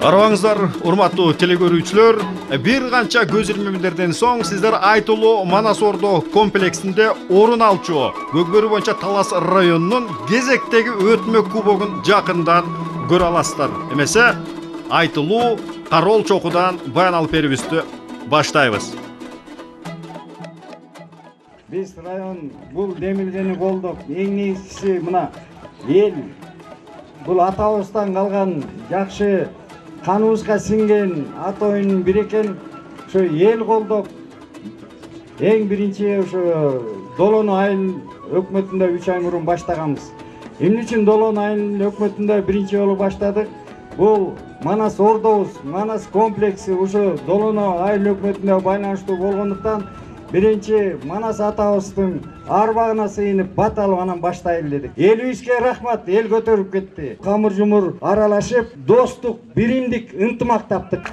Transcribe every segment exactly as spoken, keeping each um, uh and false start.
Арабаңыздар, урматтуу телекөрүүчүлөр, бир канча көз ирмемдерден соң сиздер айтылуу Манас Ордо комплексинде орун алчу Көкбөрү боюнча Талас районунун кезектеги өтмө кубогун жакындан көрө аласыздар. Эмесе, айтылуу Карол чокудан баян алып берүүбүздү баштайбыз. Биз район бул демилгени колдоп, эң негизгиси мына эл бул атабыздан калган жакшы каныбызга сиңген ат оюнун бири экен. Ошо эл колдоп эң биринчи ошо Долону айыл өкмөтүндө үч ай мурун баштаганбыз. Эмне үчүн Долону айыл өкмөтүндө биринчи жолу баштадык? Бул Манас Ордобуз, Манас комплекси ошо Долону айыл өкмөтүндө байланыштуу болгондуктан биринчи Манас атабыздын арбагына сыйынып бат алып анан баштайлы дедик. Элибизге рахмат, эл көтөрүп кетти. Камыр жумур аралашып, достук, биримдик, ынтымак таптык.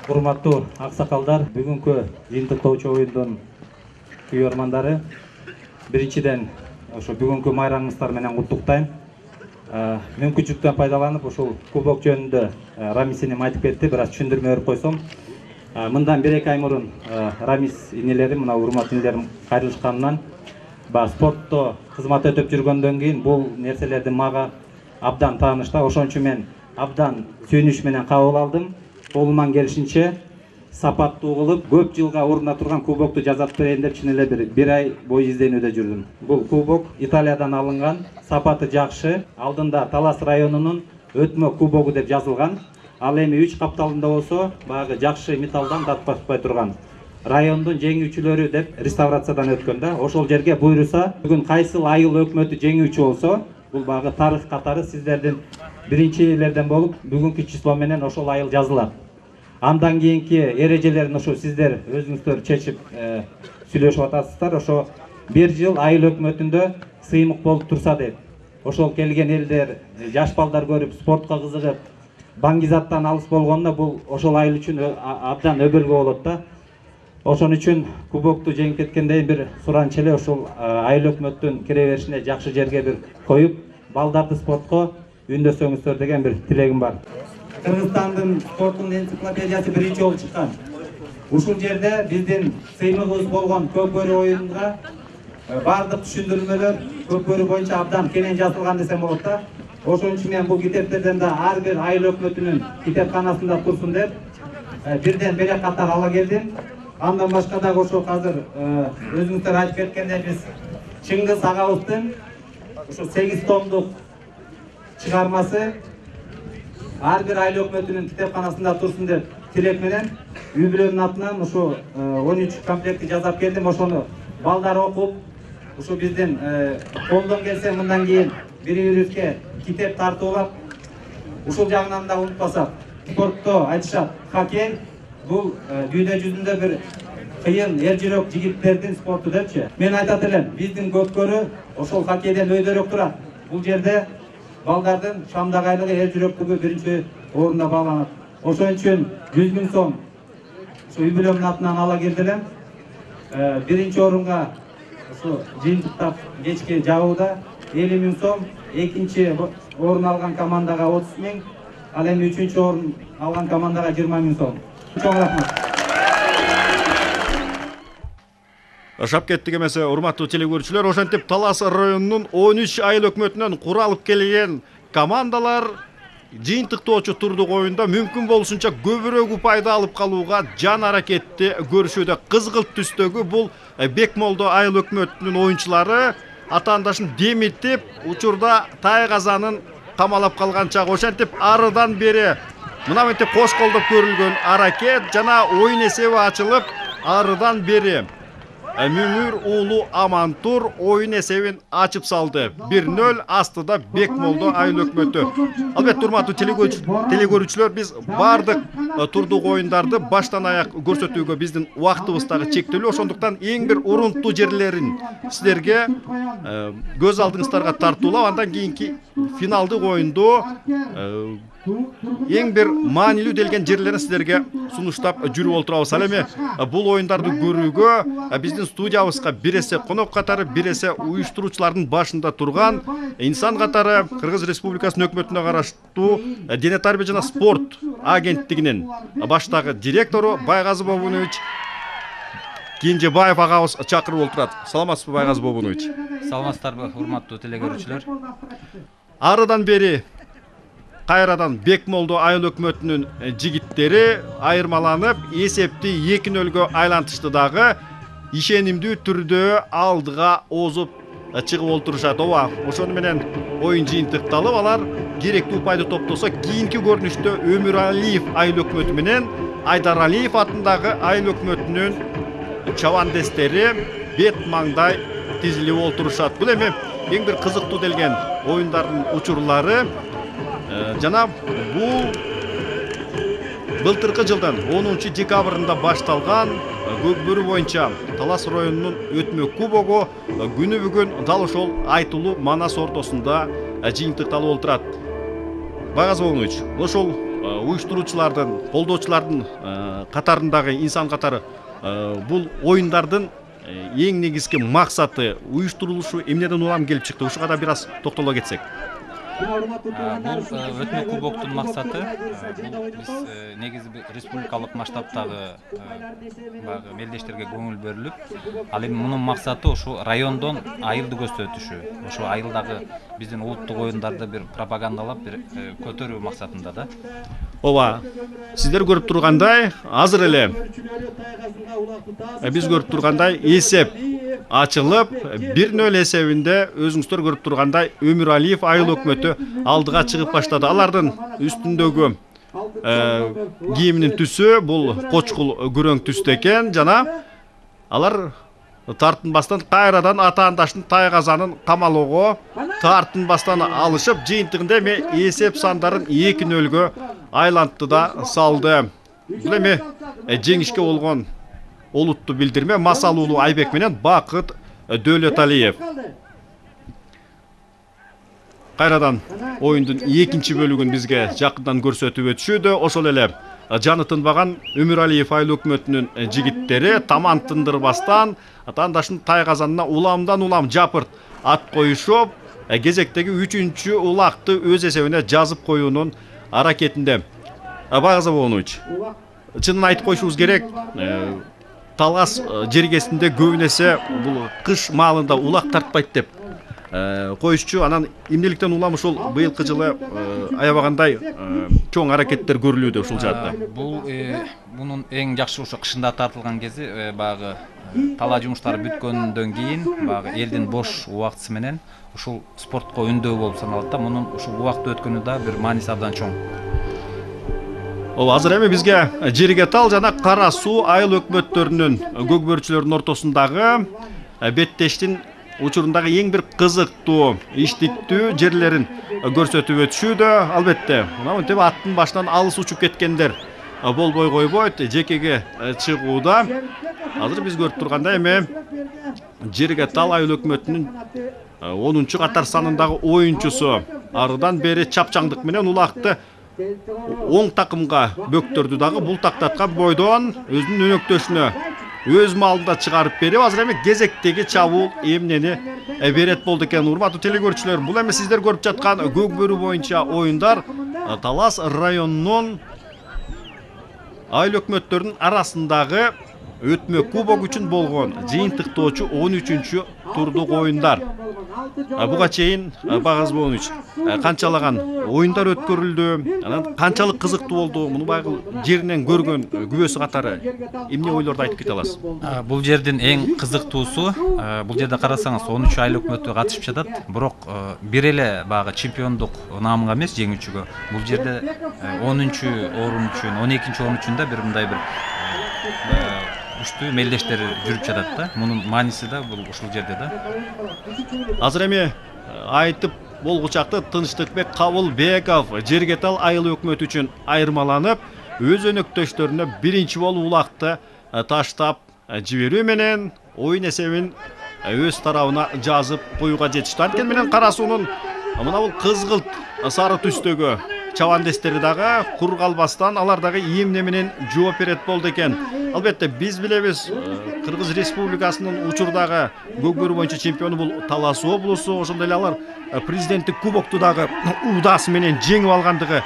Урматтуу аксакалдар, бүгүнкү жыйынтыктоочу оюндун күйөрмандары, биринчиден ошо бүгүнкү майрамыңыздар менен куттуктайм. Мүмкүнчүлүктөн пайдаланып, ушул кубок жөнүндө Рамис инем айтып кетти, бираз түшүндүрмө берип койсом. Мындан бир эки ай мурун Рамис инелерим, мына урматтуу инелерим кайрылышканынан, баягы спортто кызмат өтөп жүргөндөн кийин бул нерселерди мага абдан тааныштаа. Ошон үчүн мен абдан сүйүнүч менен кабыл алдым. Колуман келишинче сапаттуу кылып, көп жылга орунда турган кубокту жасап берейин деп чын эле бир бир ай бою изденүүдө жүрдүм. Бул кубок Италиядан алынган, сапаты жакшы, алдында Талас районунун өтмө кубогу деп жазылган. Ал эми үч капталында болсо, баягы жакшы металлдан татпашпай турган. Райондун жеңүүчүлөрү деп реставрациядан өткөн да. Ошол жерге буйруса, бүгүн кайсыл айыл өкмөтү жеңүүчү болсо, бул баягы тарых катары сиздердин биринчилерден болуп, бүгүнкү число менен ошол айыл жазылат. Андан кийинки эрежелерин ошо сиздер өзүңүздөр чечип сүйлөшүп атасыздар. Ошо бир жыл айыл өкмөтүндө сыймык болуп турса деп. Ошол келген элдер, жаш балдар көрүп, спортко кызыгып, баңгизаттан алыс болгондо бул ошол айыл үчүн абдан өбөлгө болот да. Ошон үчүн кубокту жеңип кеткенден бир суранчы эле ошол айыл өкмөттүн кире беришине жакшы жерге бир коюп, балдарды спортко үндөсөңүздөр деген бир тилегим бар. Кыргызстандын спорттун энциклопедиясы биринчи жолу чыккан. Ушул жерде биздин сыймыгыбыз болгон Көкбөрү оюнунга бардык түшүндүрмөлөр Көкбөрү боюнча абдан кенен жазылган десем болот да. Ошон үчүн мен бул китептерден да ар бир айыл өкмөтүнүн китепканасында турсун деп бирден берек катар ала келдим. Андан башка дагы ошо азыр өзүңүздөр айтып кеткендей биз Чыңгыз агабыздын ошо сегиз томдук чыгармасы ар бир айыл өкмөтүнүн китепканасында турсун деп тилек менен үй бүлөнүн атынан ошо он үч комплектти жасап келдим. Ошону балдар окуп, ошо биздин колдон келсе мындан кийин бири-бирибизге китеп тартуулап, ушул жагынан да унутпасак, спортто айтышат, хоккей бул дүйнө жүзүндө бир кыйын эр жүрөк жигиттердин спорту депчи. Мен айтат элем, биздин Көкбөрү ошол хоккейден өйдөрөөк турат. Бул жерде балдардын шамдагы айлыгы, эр жүрөктүгү биринчи орунда бааланат. Ошон үчүн жүз миң сом ушу үй бүлөмдүн атынан ала келдилем. Биринчи орунга ушу жыйынтыктап кечки жабууда элүү миң сом, экинчи орун алган командага отуз миң, ал эми үчүнчү орун алган командага жыйырма миң сом. Чоң рахмат. Ашап кеттик эмесе, урматтуу телекөрүүчүлөр, ошентип Талас районунун он үч айыл өкмөтүнөн куралып келген командалар жыйынтыктоочу турдук оюнда мүмкүн болушунча көбүрөөк упайда алып калууга жан аракетти көрүшүүдө. Кызгылт түстөгү бул Бекмолдо айыл өкмөтүнүн оюнчулары атаандашын демитип, учурда Тайгазанын камалап калган чагы. Ошентип арыдан бери мына мынтип кош колдоп көрүлгөн аракет жана оюн эсеби ачылып, арыдан бери Мүңүр уулу Амантур оюн эсебин ачып салды. бир нөл астыда Бекмолдо айыл өкмөтү. Албетте, урматтуу телекөрүүчүлөр, биз бардык турдук оюндарды баштан аяк көрсөтүүгө биздин убактыбыз дагы чектелүү. Ошондуктан эң бир урунттуу жерлерин сиздерге көз алдыңыздарга тартуулап, андан кийинки финалдык оюнду эң бир маанилүү делген жерлерин сиздерге сунуштап жүрүп олтурабыз. Ал эми бул оюндарды көрүүгө биздин студиябызга бир эсе конок катары, бир эсе уюштуруучулардын башында турган инсан катары Кыргыз Республикасынын өкмөтүнө караштуу Дене тарбия жана спорт агенттигинин баштагы директору Байгазы Бобунович Кенжебаев агабыз чакырып олтурат. Саламатсызбы, Байгазы Бобунович? Саламатсыздарбы, урматтуу телекөрүүчүлөр? Арыдан бери кайрадан Бекмолду айыл өкмөтүнүн жигиттери айырмаланып, эсепти эки нөлгө айлантышты дагы ишенимдүү түрдө алдыга озуп чыгып олтурушат. Ооба, ошону менен оюн жыйынтыкталып, алар керектүү упайды топтосо, кийинки көрүнүштө Өмүралиев айыл өкмөтү менен Айдаралиев атындагы айыл өкмөтүнүн чабандестери бет маңдай тизилип олтурушат. Бул эми эң бир кызыктуу делген оюндардын учурлары. Жана бул былтыркы жылдын онунчу декабрында башталган Көкбөрү боюнча Талас районунун өтмө кубогу күнү бүгүн дал ошол айтылуу Манас ортосунда жыйынтыкталып олтурат. Байгазы Бобунович, ошол уюштуруучулардын, колдоочулардын катарындагы инсан катары бул оюндардын эң негизги максаты, уюштурулушу эмнеден улам келип чыкты? Ушуга да бир аз токтоло кетсек. Бул өтмө кубоктун максаты биз негизи республикалык масштабтагы баягы мелдештерге көңүл берилип, ал эми мунун максаты ушу райондон айылды көрсөтүшү, ошо айылдагы биздин улуттук оюндарды бир пропагандалап, бир көтөрүү максатында да. Ооба, сиздер көрүп тургандай, азыр эле биз көрүп тургандай эсеп ачылып, бир нөл эсебинде өзүңүздөр көрүп тургандай Өмүралиев айыл өкмөтү алдыга чыгып баштады. Алардын үстүндөгү кийиминин түсү бул кочкул күрөң түстө экен, жана алар тартынбастан кайрадан атаандаштын Тайгазанын камалоого тартынбастан алышып, жыйынтыгында эми эсеп сандарын эки нөлгө айлантты да салды. Бул эми жеңишке болгон олутту билдирме Масалуулу Айбек менен Бакыт Дөөлөталиев. Кайрадан оюндун экинчи бөлүгүн бизге жакындан көрсөтүп өтүшүүдө. Ошол эле жаны тынбаган Өмүралиев айыл өкмөтүнүн жигиттери таман тындырбастан атаандаштын Тайгазанына уламдан улам жапырт ат коюшуп, кезектеги үчүнчү улакты өз эсебине жазып коюунун аракетинде. Байгазы Бобунович, чынын айтып коюшубуз керек, Талас жергесинде көбүнесе бул кыш маалында улак тартпайт деп коюшчу. Анан эмнеликтен улам ушул быйылкы жылы аябагандай чоң аракеттер көрүлүүдө ушул жаатта? Бул мунун эң жакшы ошо кышында тартылган кези баягы талаа жумуштары бүткөндөн кийин баягы элдин бош убактысы менен ушул спортко үндөө болуп саналат да. Мунун ушул убакты өткөнү да бир мааниси абдан чоң. Ооба, азыр эми бизге Жерге Тал жана Кара Суу айыл өкмөттөрүнүн көкбөрчүлөрүнүн ортосундагы беттештин учурундагы эң бир кызыктуу, иштиктүү жерлерин көрсөтүп өтүшүүдө. Албетте, мына мынтип аттын башынан алыс учуп кеткендер болбой койбойт. Жекеге чыгууда азыр биз көрүп тургандай эми Жерге Тал айыл өкмөтүнүн онунчу катар санындагы оюнчусу арыдан бери чапчаңдык менен улакты оң такымга бөктөрдү дагы бул тактаткан бойдон өзүнүн өнөктөшүнө өз маалында чыгарып берип, азыр эми кезектеги чабуул эмнени берет болду экен. Урматтуу телекөрүүчүлөр, бул эми сиздер көрүп жаткан Көкбөрү боюнча оюндар Талас районунун айыл өкмөттөрүнүн арасындагы өтмө кубок үчүн болгон жыйынтыктоочу он үчүнчү турдук оюндар. Буга чейин Байгазы Бобунович, канчалаган оюндар өткөрүлдү, анан канчалык кызыктуу болду? Муну баягы жеринен көргөн күбөсү катары эмне ойлорду айтып кете аласыз? Бул жердин эң кызыктуусу, бул жерде карасаңыз он үч айыл өкмөтү катышып жатат, бирок бир эле баягы чемпиондук наамга эмес, жеңүүчүгө. Бул жерде онунчу орун үчүн, он экинчи орун үчүн да бир мындай бир күчтүү мелдештер жүрүп жатат да. Мунун мааниси да бул ушул жерде да. Азыр эми айтып болгучакты Тынчтыкбек Кабылбеков Жерге Тал айыл өкмөтү үчүн айырмаланып, өз өнөктөштөрүнө биринчи болуп улакты таштап жиберүү менен оюн эсебин өз тарабына жазып коюуга жетишти. Анткени менен Кара Суунун мына бул кызгылт сары түстөгү чабандестери дагы кур калбастан алар дагы эмне менен жооп берет болду экен. Албетте биз билебиз, Кыргыз Республикасынын учурдагы көкбөрү боюнча чемпиону бул Талас облусу. Ошондой эле алар президенттик кубокту дагы удаасы менен жеңип алгандыгы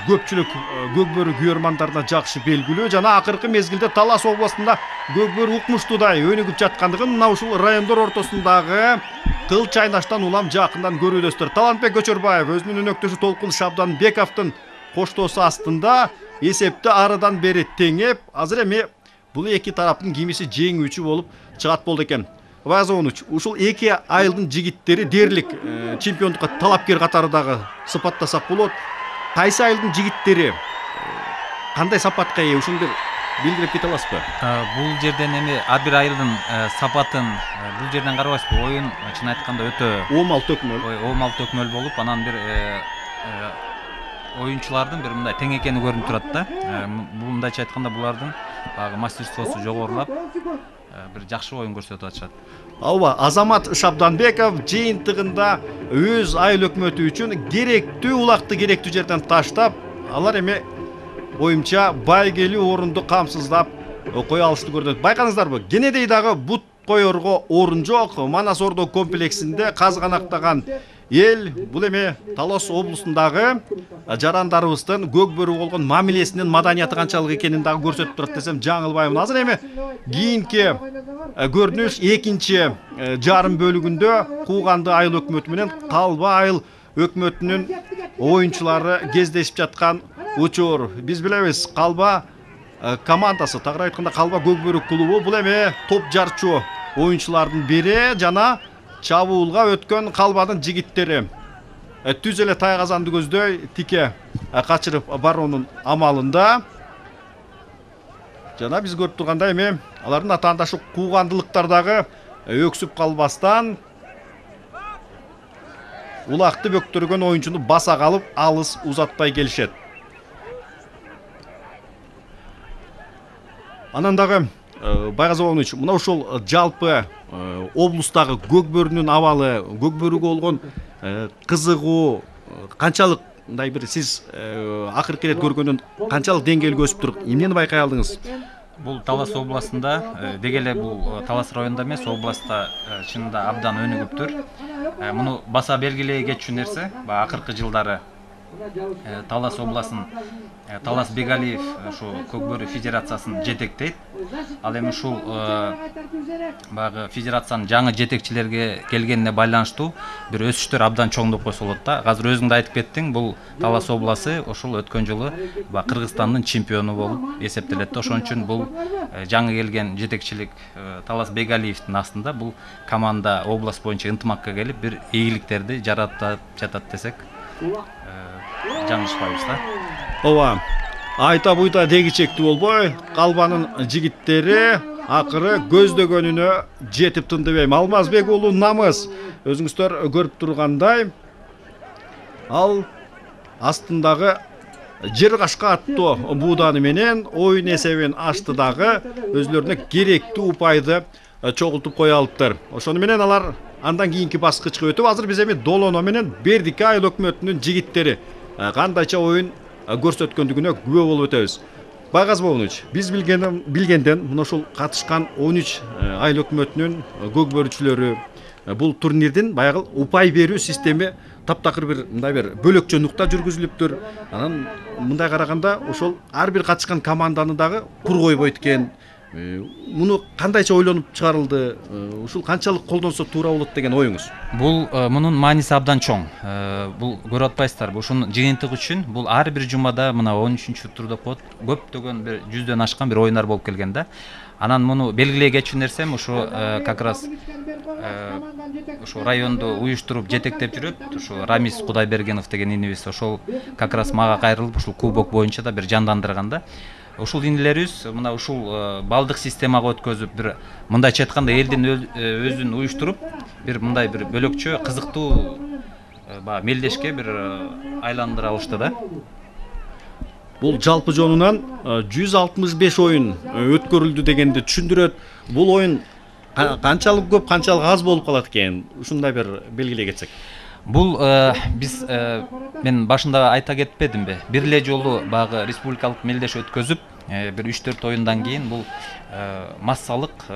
көпчүлүк көкбөрү күйөрмандарына жакшы белгилүү. Жана акыркы мезгилде Талас областында көкбөрү укмуштуудай өнүгүп жаткандыгын мына ушул райондор ортосундагы кыл чайнаштан улам жакындан көрүүдөстөр. Талантбек Көчөрбаев өзүнүн өнөктөшү Толкун Шабданбековдун коштоосу астында эсепти арыдан бери теңеп, азыр эми бул эки тараптын кимиси жеңүүчү болуп чыгат болду экен. Вазовнуч, ушул эки айылдын жигиттери дээрлик чемпиондукка талапкер катары дагы сыпаттасак болот. Кайсы айылдын жигиттери кандай сапатка ээ, ушуну билдирип кете аласызбы? Бул жерден эми ар бир айылдын сапатын бул жерден карабайсызбы? Оюн чын айтканда өтө оомал төкмөл. Ой, оомал төкмөл болуп, анан бир оюнчулардын бир мындай тең экени көрүнүп турат да. Бул мындайча айтканда булардын багы мастерствосу жогорулап, бир жакшы оюн көрсөтүп атышат. Ооба, Азамат Шабданбеков жыйынтыгында өз айыл өкмөтү үчүн керектүү улакты керектүү жерден таштап, алар эми оюмча байгелүү орунду камсыздап кое алышты көрүнөт. Байкаңыздарбы, кенедей дагы бут коерго орун жок. Манас Ордо комплексинде казганактаган эл бул эми Талас облусундагы жарандарыбыздын көкбөрү болгон мамилесинин маданияты канчалык экенин дагы көрсөтүп турат десем жаңылбаймын. Азыр эми кийинки көрүнүш экинчи жарым бөлүгүндө Кууганды айыл өкмөтү менен Калба айыл өкмөтүнүн оюнчулары кездешип жаткан учур. Биз билебиз, Калба командасы, тагыраак айтканда Калба көкбөрү клубу бул эми топ жарчу оюнчулардын бири жана чабуулга өткөн Калбанын жигиттери түз эле тайгазанды көздөй тике качырып баруунун амалында. Жана биз көрүп тургандай эми алардын атаандашы куугандылыктар дагы өксүп калбастан улакты бөктөргөн оюнчуну баса калып алыс узатпай келишет. Анан дагы Байгазовович, мына ушул жалпы облустагы көкбөрүнүн абалы, көкбөрүгө болгон кызыгуу канчалык, мындай бир сиз акыркы ирет көргөндөн канчалык деңгээлге өсүп туруп, эмнени байкай алдыңыз? Бул Талас областында, деги эле бул Талас районунда эмес, областта чынында абдан өнүгүптүр. Муну баса белгилей кетчү нерсе, акыркы жылдары Талас областын Талас Бегалиев ушу көкбөрү федерациясын жетектейт. Ал эми ушул багы федерациянын жаңы жетекчилерге келгенине байланыштуу бир өсүштөр абдан чоңдоп койсо болот да. Азыр өзүң да айтып кеттиң, бул Талас обласы ушул өткөн жылы Кыргызстандын чемпиону болуп эсептелет. Ошон үчүн бул жаңы келген жетекчилик Талас Бегалиевдин астында бул команда область боюнча ынтымакка келип бир ийгиликтерди жаратып жатат десек жаңылышпайбыз да. Ооба, айта буйта дегичектүү болбой, Калбанын жигиттери акыры көздөгөнүнө жетип тындыбайм. Алмазбек уулу Намыс, өзүңүздөр көрүп тургандай, ал астындагы жер кашка аттуу бууданы менен оюн эсебин ачты дагы өзүлөрүнө керектүү упайды чогултуп кое алыптыр. Ошону менен алар андан кийинки баскычка өтүп, азыр биз эми Долоно менен Бердике айыл өкмөтүнүн жигиттери кандайча оюн көрсөткөндүгүнө күбө болуп өтөбүз. Байгазовович, биз билген билгенден мына ушул катышкан он үч айыл өкмөтүнүн көкбөрүчүлөрү бул турнирдин баягы упай берүү системи таптакыр бир мындай бир бөлөкчө нукта жүргүзүлүптүр. Анан мындай караганда ошол ар бир катышкан команданы дагы кур койбойт экен. Муну кандайча ойлонуп чыгарылды? Ушул канчалык колдонсо туура болот деген оюңуз? Бул мунун мааниси абдан чоң. Бул көрүп атпайсыздарбы? Ушунун жыйынтыгы үчүн бул ар бир жумада мына он үчүнчү турда коет көптөгөн бир жүздөн ашкан бир оюндар болуп келген да. Анан муну белгилей кетчү нерсем ушу как раз ушу районду уюштуруп жетектеп жүрөт. Ушу Рамис Кудайбергенов деген инибиз ошол как раз мага кайрылып ушул кубок боюнча да бир жандандырган да. Ушул инилерибиз мына ушул балдык системага өткөзүп бир мындайча айтканда элдин өзүн уюштуруп бир мындай бир бөлөкчө кызыктуу баягы мелдешке бир айландыра алышты да. Бул жалпы жонунан жүз алтымыш беш оюн өткөрүлдү дегенди түшүндүрөт. Бул оюн канчалык көп, канчалык аз болуп калат экен? Ушундай бир белгилей кетсек. Бул биз мен башында айта кетпедимби? Бир эле жолу баягы республикалык мелдеш өткөзүп, бир үч төрт оюндан кийин бул массалык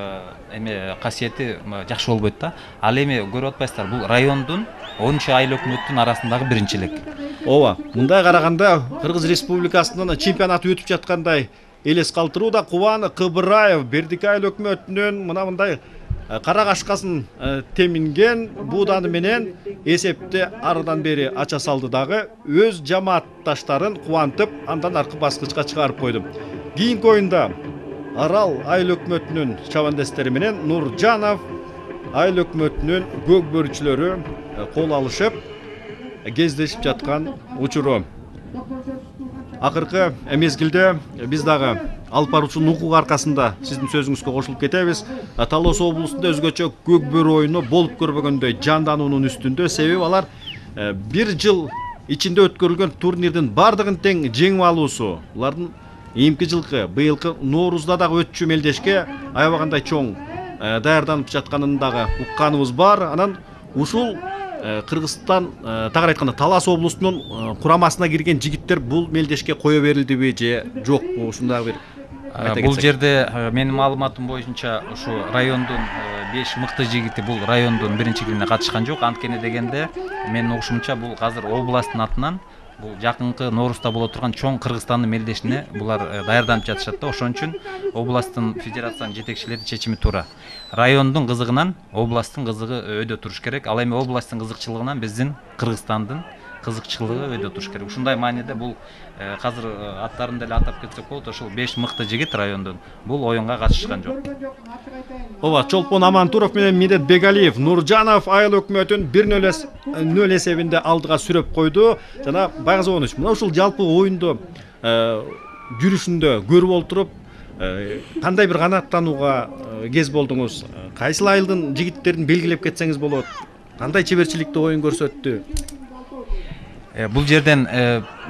эме касиети жакшы болбойт да. Ал эми көрүп атпайсыздар, бул райондун онунчу айыл өкмөттүн арасындагы биринчилик. Ооба, мындай караганда Кыргыз Республикасынын чемпионаты өтүп жаткандай элес калтырууда. Кубан Кыбыраев Бердикай айыл өкмөтүнүн мына мындай кара кашкасын теминген бууданы менен эсепти арыдан бери ача салды дагы, өз жамаатташтарын кубантып, андан аркы баскычка чыгарып койду. Кийинки оюнда Арал айыл өкмөтүнүн чабандестери менен Нуржанов айыл өкмөтүнүн көкбөрүчүлөрү кол алышып кездешип жаткан учуру. Акыркы мезгилде биз дагы алып баруучу укук аркасында сиздин сөзүңүзгө кошулуп кетебиз. Талас облусунда өзгөчө көкбөрү оюну болуп көрбөгөндөй жандануунун үстүндө, себеби алар бир жыл ичинде өткөрүлгөн турнирдин бардыгын тең жеңип алуусу. Улардын эмки жылкы, быйылкы Ноорузда дагы өтчү мелдешке аябагандай чоң даярданып жатканын дагы укканыбыз бар. Анан ушул Кыргызстан тагыраак айтканда Талас облусунун курамасына кирген жигиттер бул мелдешке кое берилдиби же жокпу? Ушундай бир бул жерде менин маалыматым боюнча ушу райондун беш мыкты жигити бул райондун биринчилигине катышкан жок. Анткени дегенде менин угушумча бул азыр областтын атынан бул жакынкы Ноорузда боло турган чоң Кыргызстандын мелдешине булар даярданып жатышат да. Ошон үчүн областтын федерациянын жетекчилери чечими туура. Райондун кызыгынан областтын кызыгы өйдө туруш керек. Ал эми областтын кызыкчылыгынан биздин Кыргызстандын кызыкчылыгы өйдө туруш керек. Ушундай мааниде бул азыр аттарын деле атап кетсек болот. Ошол беш мыкты жигит райондун бул оюнга катышкан жок. Ооба, Чолпон Амантуров менен Медет Бегалиев Нуржанов айыл өкмөтүн бир нөл эсебинде алдыга сүрөп койду. Жана Байгазы Онуч, мына ушул жалпы оюнду жүрүшүндө көрүп олтуруп, кандай бир канааттанууга кез болдуңуз? Кайсыл айылдын жигиттерин белгилеп кетсеңиз болот? Кандай чеберчиликте оюн көрсөттү? Бул жерден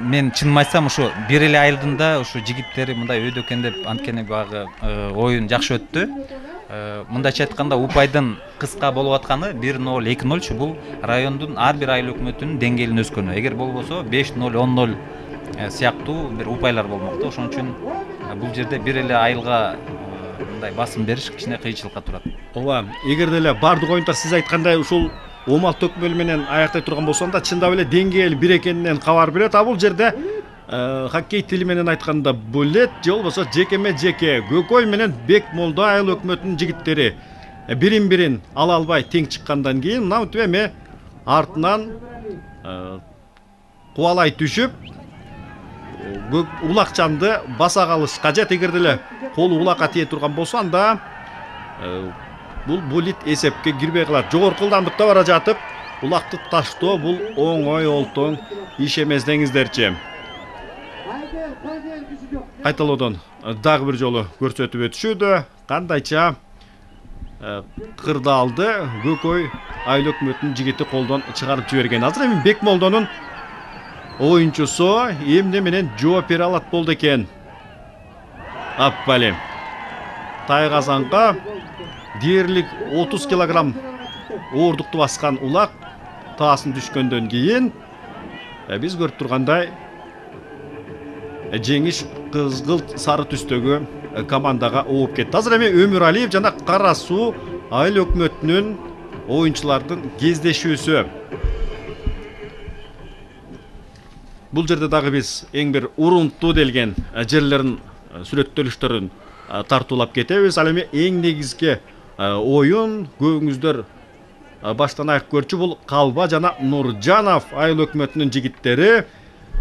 мен чынын айтсам ушу бир эле айылдын да ушу жигиттери мындай өйдөкөн деп, анткени багы оюн жакшы өттү. Мындайча айтканда упайдын кыска болуп атканы бир ноль эки ноль бул райондун ар бир айыл өкмөтүнүн деңгээлин өскөнү. Эгер болбосо беш ноль он ноль сыяктуу бир упайлар болмок да. Ошон үчүн бул жерде бир эле айылга мындай басым бериш кичине кыйынчылыкка турат. Ооба, эгер деле бардык оюндар сиз айткандай ушул омал төкмөл менен аяктай турган болсо да чындап эле деңгээл бир экенинен кабар берет. А бул жерде хоккей тили менен айтканда булет же болбосо жекеме жеке Көкөй менен Бекмолдо айыл өкмөтүнүн жигиттери бирин бирин ала албай тең чыккандан кийин мына мынтип эми артынан кубалай түшүп улакчанды баса калыш кажет. Эгер деле колу улакка тие турган болсо анда бул булит эсепке кирбей калат. Жогорку ылдамдыкта бара жатып улакты таштоо бул оңой олтоң иш эмес деңиздерчи. Кайталоодон дагы бир жолу көрсөтүп өтүшүүдө кандайча кырдаалды Көкөй айыл өкмөтүнүн жигити колдон чыгарып жиберген. Азыр эми Бекмолдонун оюнчусу эмне менен жооп бере алат болду экен. Аппали Тайгазанга дээрлик отуз килограмм оордукту баскан улак таасын түшкөндөн кийин биз көрүп тургандай жеңиш кызгылт сары түстөгү командага ооп кетти. Азыр эми Өмүр Алиев жана Кара Суу айыл өкмөтүнүн оюнчулардын кездешүүсү. Бул жерде дагы биз эң бир урунттуу делген жерлерин сүрөттөлүштөрүн тартуулап кетебиз. Ал эми эң негизги оюн көбүңүздөр баштан аяк көрчү бул Калба жана Нуржанов айыл өкмөтүнүн жигиттери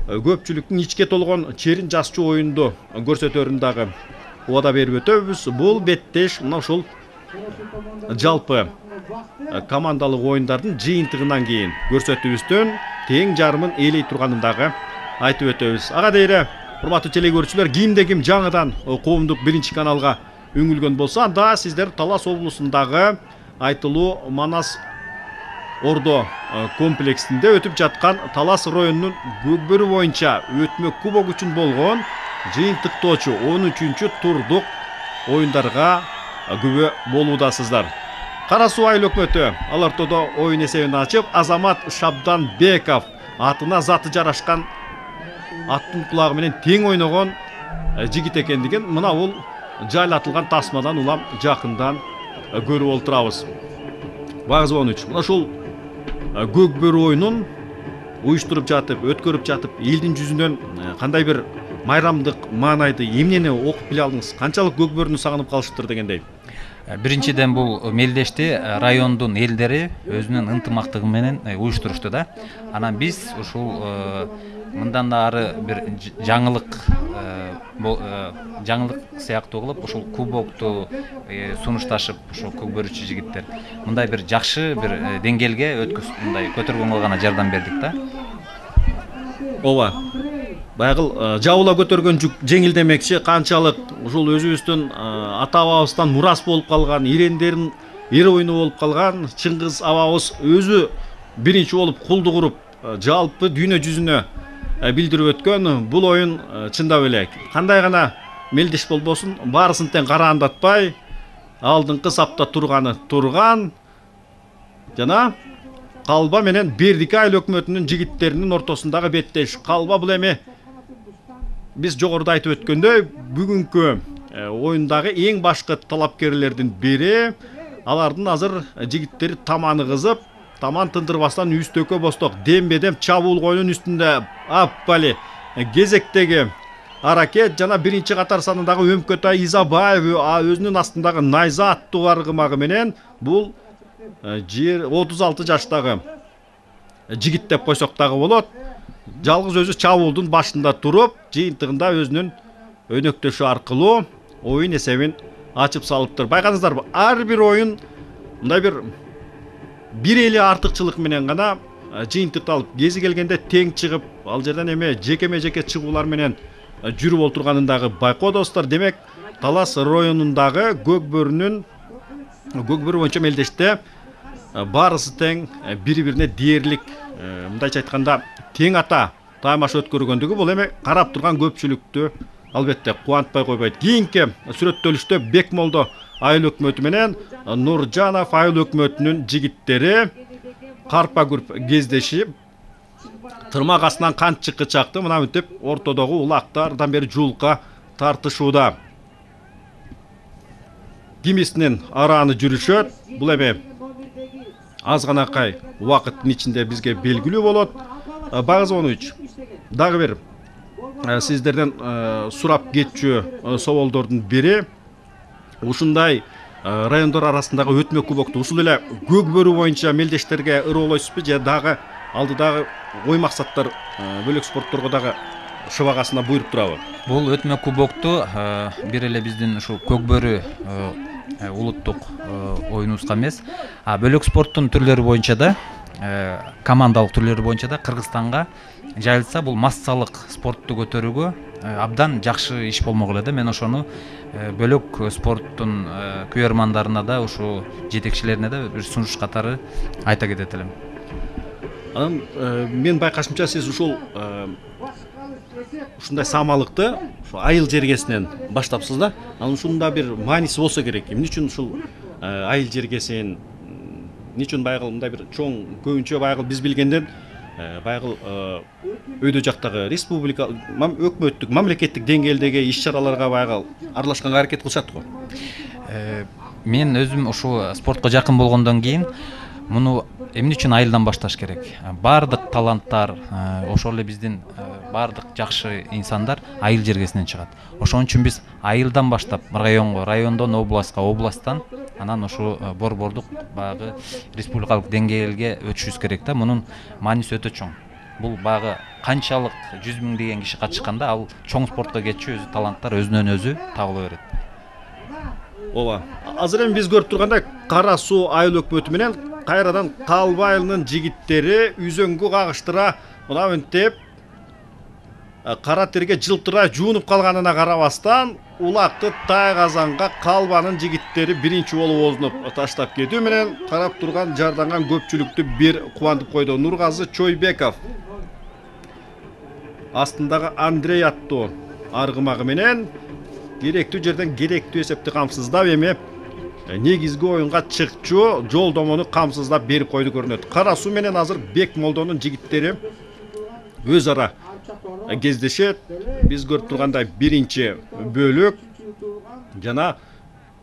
көпчүлүктүн ичке толгон черин жасчу оюнду көрсөтөрүн дагы убада берип өтөбүз. Бул беттеш мына ушул жалпы командалык оюндардын жыйынтыгынан кийин көрсөтүүбүздөн тең жарымын ээлей турганын дагы айтып өтөбүз. Ага дейре урматтуу телекөрүүчүлөр, кимде ким жаңыдан коомдук биринчи каналга үңүлгөн болсо, анда сиздер Талас облусундагы айтылуу Манас Ордо комплексинде өтүп жаткан Талас районунун көкбөрү боюнча өтмө кубок үчүн болгон жыйынтыктоочу он үчүнчү турдук оюндарга күбө болуудасыздар. Кара Суу айыл өкмөтү ал ортодо оюн эсебин ачып, Азамат Шабданбеков атына заты жарашкан аттын кулагы менен тең ойногон жигит экендигин мына бул жайлатылган тасмадан улам жакындан көрүп олтурабыз. Багыз он үч. Мына ушул көк бөрү оюнун уюштуруп жатып, өткөрүп жатып, элдин жүзүнөн кандай бир майрамдык маанайды, эмнени окуп биле алдыңыз? Канчалык көк бөрүнү сагынып калышыптыр дегендей. Биринчиден бул мелдешти райондун элдери өзүнүн ынтымактыгы менен уюштурушту да. Анан биз ушул мындан да ары бир жаңылык жаңылык сыяктуу кылып ушул кубокту сунушташып, ушул көк бөрүчү жигиттер мындай бир жакшы бир деңгээлге өткөз мындай көтөргөнгө гана жардам бердик да. Ооба. Байгыл жабыла көтөргөн жүк жеңил демекчи, канчалык ушул өзүбүздүн ата бабабыздан мурас болуп калган, ирендерин эр оюну болуп калган Чыңгыз абабыз өзү биринчи болуп кулду куруп, жалпы дүйнө жүзүнө билдирип өткөн бул оюн чындап эле кандай гана мелдеш болбосун, баарысын тең караандатпай, алдыңкы сапта турганы турган жана Калба менен Бердики айыл өкмөтүнүн жигиттеринин ортосундагы беттеш. Калба бул эми биз жогоруда айтып өткөндөй, бүгүнкү оюндагы эң башкы талапкерлердин бири. Алардын азыр жигиттери таманы кызып, таман тындырбастан үстөккө босток дембедем чабуул коюнун үстүндө аппали кезектеги аракет жана биринчи катар санындагы Өмкөтай Изабаев өзүнүн астындагы Найза аттуу аргымагы менен бул отуз алты жаштагы жигит деп койсок дагы болот. Жалгыз өзү чабуулдун башында туруп, жыйынтыгында өзүнүн өнөктөшү аркылуу оюн эсебин ачып салыптыр. Байкадыңыздарбы? Ар бир оюн мындай бир бир эле артыкчылык менен гана жыйынтыкталып, кези келгенде тең чыгып, ал жерден эме жекеме жеке чыгуулар менен жүрүп олтурганын дагы байкоодосуздар. Демек, Талас районундагы көк бөрүнүн көк бөрү боюнча мелдеште баарысы тең бири-бирине дээрлик, мындайча айтканда тең ата таймаш өткөргөндүгү бул эми карап турган көпчүлүктү албетте кубантпай койбойт. Кийинки сүрөттөлүштө Бекмолдо айыл өкмөтү менен Нуржанов айыл өкмөтүнүн жигиттери карпа күрп кездешип, тырмак астынан канчыкы чакты мына мынтип ортодогу улактардан бери жуулукка тартышууда. Кимисинин арааны жүрүшөт. Бул эми аз ганакай убакыттын ичинде бизге белгилүү болот. Багыз он үч. Дагы бир сиздерден сурап кетчү соболдордун бири ушундай райондор арасындагы өтмө кубокту ушул эле көк бөрү боюнча мелдештерге ыроолойсузбу же дагы алдыдагы ой максаттар бөлөк спортторго дагы шыбагасына буйруп турабы? Бул өтмө кубокту бир эле биздин ушул көк бөрү улуттук оюнубузга эмес, а бөлөк спорттун түрлөрү боюнча да, командалык түрлөрү боюнча да Кыргызстанга жайылса бул массалык спортту көтөрүүгө абдан жакшы иш болмок эле да. Мен ошону бөлөк спорттун күйөрмандарына да, ушу жетекчилерине да бир сунуш катары айта кетет элем. Анан мен байкашымча сиз ушул ушундай самалыкты ушу айыл жергесинен баштапсыз да. Анан ушунда бир мааниси болсо керек. Эмне үчүн ушул айыл жергесин, эмне үчүн байгыл мындай бир чоң, көбүнчө байгыл биз билгенден байгыл өйдө жактагы республика, өкмөттүк, мамлекеттик деңгээлдеги иш-чараларга байгыл аралашканга аракет кылышат го. Мен өзүм ушу спортко жакын болгондон кийин муну эмне үчүн айылдан башташ керек? Бардык таланттар, ошол эле биздин бардык жакшы инсандар айыл жергесинен чыгат. Ошон үчүн биз айылдан баштап районго, райондон областка, областтан анан ушу борбордук багы республикалык деңгээлге өтүшүбүз керек да. Мунун мааниси өтө чоң. Бул багы канчалык жүз миңдеген киши катышканда ал чоң спортко кетчү өзү таланттар өзүнөн өзү табыла берет. Ооба. Азыр эми биз көрүп тургандай Кара Суу айыл өкмөтү менен кайрадан Калба айылынын жигиттери үзөңгү кагыштыра мына мынтип кара терге жылтырай жуунуп калганына карабастан улакты тайгазанга Калбанын жигиттери биринчи болуп озунуп таштап кетүү менен карап турган жарданган көпчүлүктү бир кубантып койду. Нургазы Чойбеков астындагы Андрей аттуу аргымагы менен керектүү жерден керектүү эсепти камсыздап эми негизги оюнга чыкчу жолдомону камсыздап берип койду көрүнөт. Кара Суу менен азыр Бекмолдонун жигиттери өз ара кездешет. Биз көрүп тургандай биринчи бөлүк жана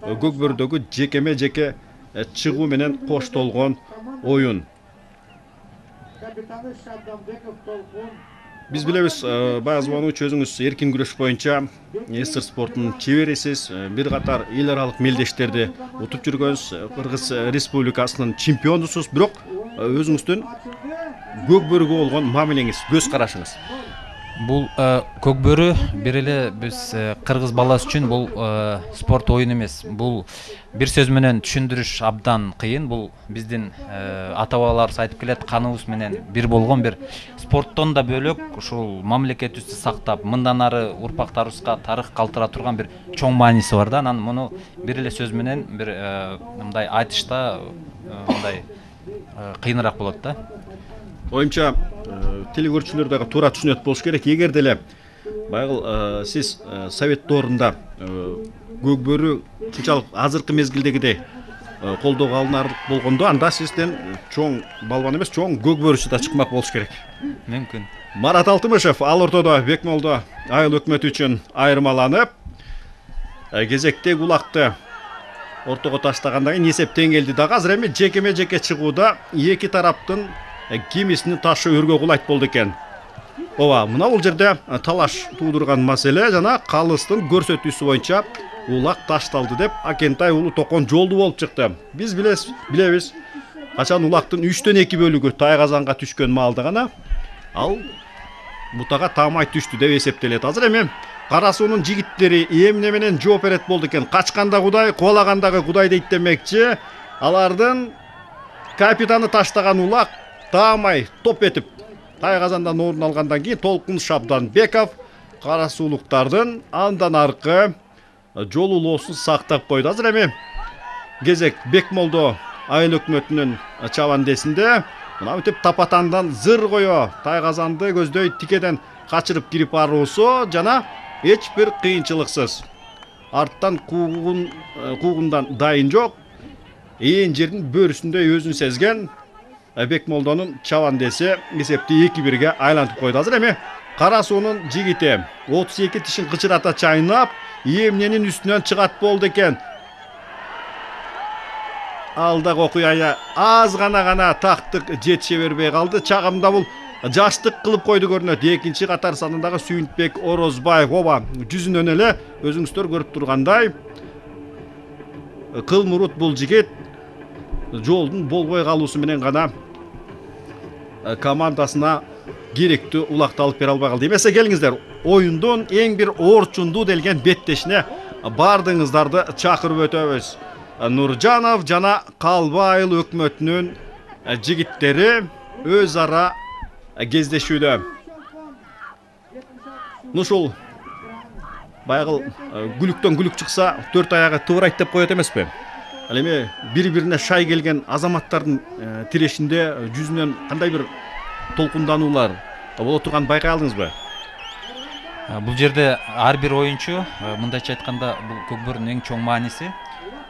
Көкбөрүдөгү жекеме жеке чыгуу менен коштолгон оюн. Биз билебиз, баягы звонуучу өзүңүз эркин күрөш боюнча эстер спортунун чеберисиз, бир катар эл аралык мелдештерди утуп жүргөнсүз, Кыргыз Республикасынын чемпионусуз, бирок өзүңүздүн Көкбөрүгө болгон мамилеңиз, көз карашыңыз. Бул Көкбөрү бир эле биз кыргыз баласы үчүн бул спорт оюн эмес. Бул бир сөз менен түшүндүрүш абдан кыйын. Бул биздин ата бабаларыбыз айтып келет, каныбыз менен бир болгон бир спорттон да бөлөк ушул мамлекетибизди сактап, мындан ары урпактарыбызга тарых калтыра турган бир чоң мааниси бар да. Анан муну бир эле сөз менен бир мындай айтышта мындай кыйыныраак болот да. Оюмча телекөрүүчүлөр дагы туура түшүнөт болуш керек. Эгер деле баягы сиз совет доорунда Көкбөрү ушунчалык азыркы мезгилдегидей колдоого алынарлык болгондо, анда сизден чоң балбан эмес, чоң Көкбөрүчү да чыкмак болуш керек. Мүмкүн. Марат Алтымышев ал ортодо Бекмолдо айыл өкмөтү үчүн айырмаланып, кезектеги улакты ортого таштагандан кийин эсеп тең келди дагы. Азыр эми жекеме жеке чыгууда эки тараптын кемесини ташы өргө кулайт болду экен. Ооба, мына бул жерде талаш туудурган маселе жана калыстын көрсөтүүсү боюнча улак ташталды деп Акентай уулу Токон жолду болуп чыкты. Биз билебиз, билебиз. Качан улактын үчтөн эки бөлүгү Тайгазанга түшкөн маалда гана ал бутага таамай түштү деп эсептелет. Азыр эми Кара Суунун жигиттери эмне менен жооп берет болду экен. Качканда Кудай, кубалагандагы Кудай дейт демекчи. Алардын капитаны таштаган улак таамай топ этип Тайгазандан орун алгандан кийин Толкун Шабданбеков кара суулуктардын андан аркы жолулоосун сактап койду. Азыр эми кезек Бекмолдо айыл өкмөтүнүн чабандесинде мына бүтүп тапатандан зыр кое Тайгазанды көздөй тикеден качырып кирип баруусу жана эч бир кыйынчылыксыз арттан куугун куугундан дайын жок, ээн жердин бөрүсүндөй өзүн сезген Бекмолдонун чабандеси эсепти эки бирге айлантып койду. Азыр эми Кара Суунун жигити отуз эки тишин кычырата чайнап эмненин үстүнөн чыгат болду экен. Алдагы окуяга аз гана гана тактык жетише бербей калды. Чагымда бул жаштык кылып койду көрүнөт. Экинчи катар санындагы Сүйүнтбек Орозбаев, ооба, жүзүнөн эле өзүңүздөр көрүп тургандай кыл мурут бул жигит жолдун болбой калуусу менен гана командасына керектүү улакты алып бере албай калды. Эмесе келиңиздер, оюндун эң бир орчундуу делген беттешине бардыгыңыздарды чакырып өтөбүз. Нуржанов жана Калбы айыл өкмөтүнүн жигиттери өз ара кездешүүдө. Ушул баягы күлүктөн күлүк чыкса төрт аягы тыбырайт деп коет эмеспи? Ал эми бири-бирине шай келген азаматтардын тирешинде жүзүнөн кандай бир толкундануулар боло турганын байкай алдыңызбы? Бул жерде ар бир оюнчу, мындайча айтканда, бул Көкбөрүнүн эң чоң мааниси